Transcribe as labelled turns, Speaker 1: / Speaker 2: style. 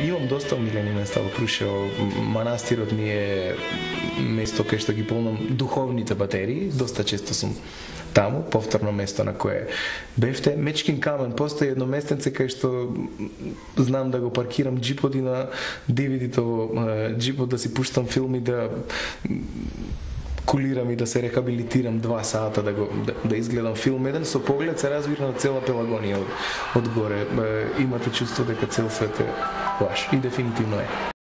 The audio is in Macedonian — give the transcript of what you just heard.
Speaker 1: Имам доста омилени места во Крушево. Манастирот ми е место кај што ги полнам духовните батерии. Доста често сум таму, повторно место на кое бевте. Мечкин камен, постои едно местенце кај што знам да го паркирам джипот и на DVD-то во джипот да си пуштам филми, да кулирам и да се рехабилитирам 2 сата да изгледам филм еден со поглед се разбира на цела Пелагонија од горе. Имате чувство дека цел свет е ваш и дефинитивно е.